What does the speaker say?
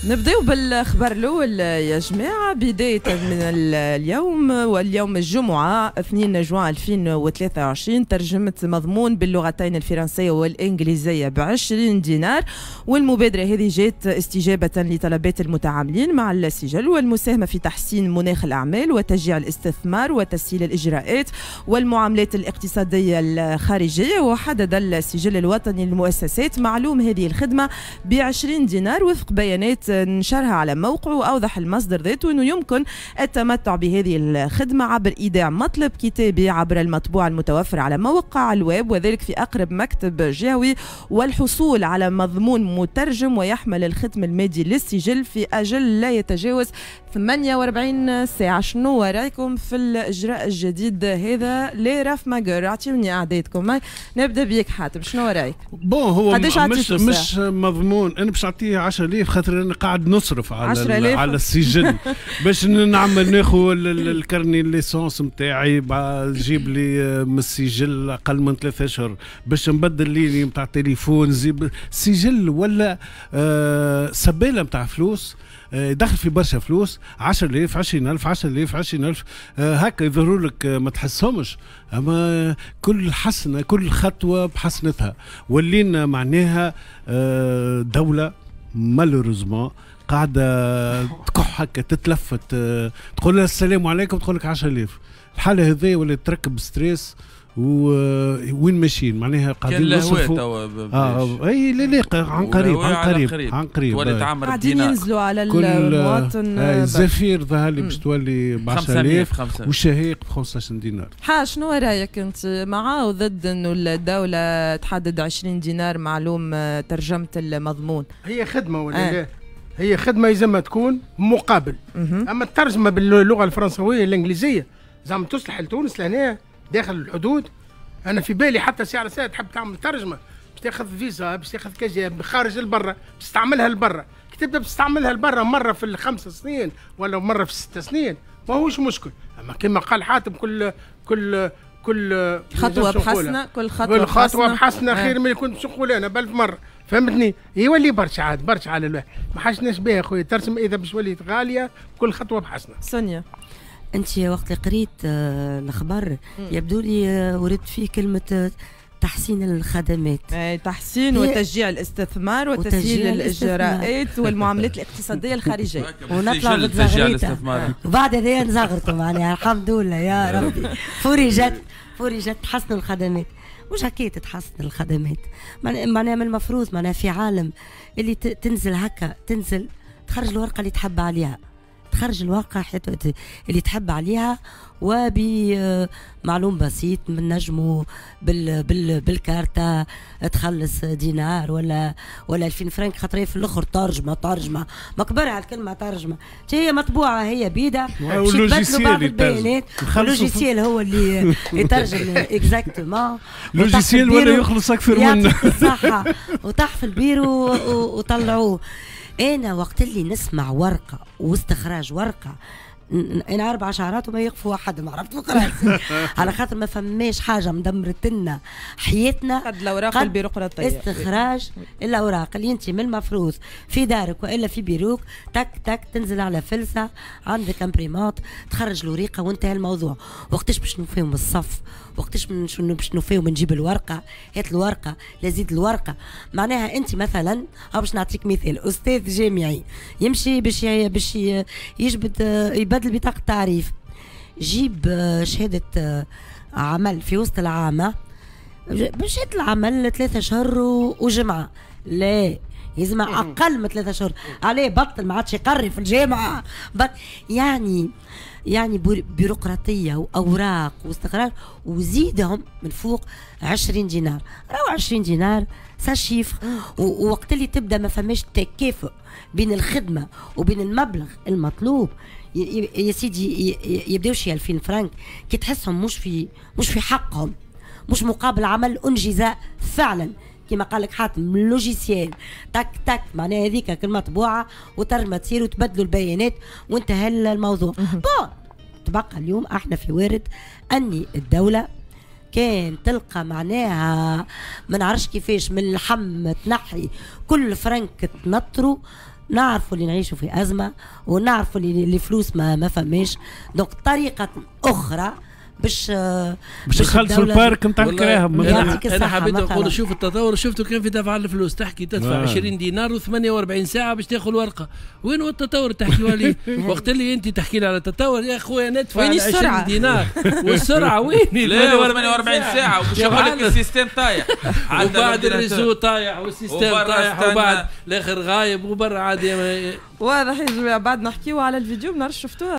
نبداو بالخبر الاول يا جماعه. بداية من اليوم، واليوم الجمعة 2 جوان 2023، ترجمه مضمون باللغتين الفرنسية والانجليزية ب 20 دينار. والمبادرة هذه جات استجابة لطلبات المتعاملين مع السجل والمساهمة في تحسين مناخ الاعمال وتشجيع الاستثمار وتسهيل الاجراءات والمعاملات الاقتصادية الخارجيه. وحدد السجل الوطني للمؤسسات معلوم هذه الخدمة ب 20 دينار وفق بيانات نشرها على موقعه. وأوضح المصدر ذاته أنه يمكن التمتع بهذه الخدمة عبر إيداع مطلب كتابي عبر المطبوع المتوفر على موقع الويب، وذلك في أقرب مكتب جهوي، والحصول على مضمون مترجم ويحمل الختم المادي للسجل في أجل لا يتجاوز 48 ساعة. شنو رأيكم في الإجراء الجديد هذا les raf magueurs؟ أعطيوني أعدادكم. نبدأ بيك حاتم، شنو رأيك؟ bon هو مش مضمون، أنا باش نعطيه 10,000 خاطر أنا قاعد نصرف على السجل باش نعمل ناخذ ال carnet l'essence نتاعي، نجيب لي من السجل اقل من 3 اشهر باش نبدل ligne نتاع تليفون. زيب سجل ولا سباله نتاع فلوس، دخل في برشا فلوس، 10,000 20,000 10,000 20,000 هكا يظهروا لك ما تحسهمش، اما كل حسنه كل خطوة بحسنتها. ولينا معناها دولة malheureusement قاعدة تكح هكا تتلفت، تقول لها السلام عليكم تقول لك 10,000. الحالة هذه ولا تركب stress وين ماشيين معناها قاعدين نصرفوا. اي لا لا عن قريب عن قريب عن قريب قاعدين ينزلوا على المواطن. الزفير ظهر لي باش تولي ب 10,000 والشهيق ب 15 دينار. ها شنو رايك انت، مع او ضد انه الدولة تحدد 20 دينار معلوم ترجمه المضمون؟ هي خدمة ولا لا؟ هي خدمة يلزمها تكون مقابل. اما الترجمة باللغة الفرنسويه الانجليزية زعما تصلح لتونس لهنا داخل الحدود. انا في بالي حتى سعر ساعة تحب تعمل ترجمه باش تاخذ فيزا، باش تاخذ كاجي خارج لبرا، باش تستعملها لبرا. كي تبدا تستعملها لبرا مرة في ال5 سنين ولا مرة في 6 سنين ماهوش مشكل. اما كما قال حاتم كل كل كل خطوة بحسنه، كل خطوة بحسنه خير من اللي كنت نقول انا بألف مرة، فهمتني؟ يولي برشا عاد برشا على الواحد، ما حاجناش بها خويا ترسم اذا باش وليت غالية كل خطوة بحسنه. سونيا، انت وقت اللي قريت الخبر يبدو لي ورد فيه كلمة تحسين الخدمات، تحسين وتشجيع الاستثمار وتسهيل الاجراءات والمعاملات الاقتصادية الخارجية. ونطلع بالزغريطه وبعد هذايا نزغرطوا معناها الحمد لله يا ربي فرجت تحسن الخدمات. مش هكا تتحسن الخدمات، معناها من المفروض معناها في عالم اللي تنزل هكا، تنزل تخرج الورقة اللي تحب عليها، تخرج الورقة اللي تحب عليها وبمعلوم بسيط من نجمو بالكارتة تخلص دينار ولا 2000 فرنك، خاطر في الاخر ترجمه ما كبرها الكلمة ترجمه، هي مطبوعة هي بيده باش يتبدلوا بعض البيانات، ال logiciel هو اللي يترجم exactement، logiciel ولا يخلص اكثر منه. صح، وطاح في البيرو وطلعوه. انا وقت اللي نسمع ورقة واستخراج ورقة، انا 4 شهرات وما يقفوا احد، ما عرفت راسي على خاطر ما فماش حاجة مدمرت لنا حياتنا قد الاوراق البيروقراطية. استخراج الاوراق اللي انت من المفروض في دارك والا في بيروك تك تك تنزل على فلسه، عندك imprimante تخرج الوريقه وانتهى الموضوع. وقتاش باش نوفيهم الصف؟ وقتاش باش نوفيهم نجيب الورقة؟ هات الورقة، لا زيد الورقة. معناها انت مثلا، او باش نعطيك مثال، استاذ جامعي يمشي باش يجبد يبدل بطاقة تعريف، جيب شهادة عمل في وسط العامة، بشهادة العمل 3 شهور وجمعة، لا يلزم أقل من 3 شهور، عليه بطل ما عادش يقري في الجامعة. يعني بيروقراطية وأوراق واستقرار، وزيدهم من فوق 20 دينار، راهو 20 دينار ça chiffre. ووقت اللي تبدا ما فماش تكافؤ بين الخدمة وبين المبلغ المطلوب، يا سيدي يبداو شي 2000 فرنك كي تحسهم مش في حقهم، مش مقابل عمل انجز فعلا كما قال لك حاتم، logiciel تك تك معناها هذيك كلمة مطبوعة وترجمة تصير وتبدلوا البيانات وانتهى الموضوع. bon تبقى اليوم احنا في وارد اني الدولة كان تلقى معناها ما نعرفش كيفاش من اللحم تنحي كل فرنك تنطرو نعرفوا اللي نعيشوا في ازمة ونعرفوا اللي الفلوس ما فماش، donc طريقه اخرى باش نخلصوا ال parc نتاع الكراهب. انا حبيت نقول شوف التطور، شفته كان في دفع الفلوس، تحكي تدفع 20 دينار و48 ساعة باش تاخذ ورقة. وين هو التطور تحكي عليه؟ وقت اللي انت تحكي لي على التطور يا خويا ندفع 20 دينار والسرعة وين؟ لا 48 ساعة وباش يقول لك ال système طايح، وبعد ال réseau طايح وال système طايح وبعد الاخر غايب وبرا عادي. واضح يا جماعة. بعد نحكيو على الفيديو، ما نعرفش شفتوها.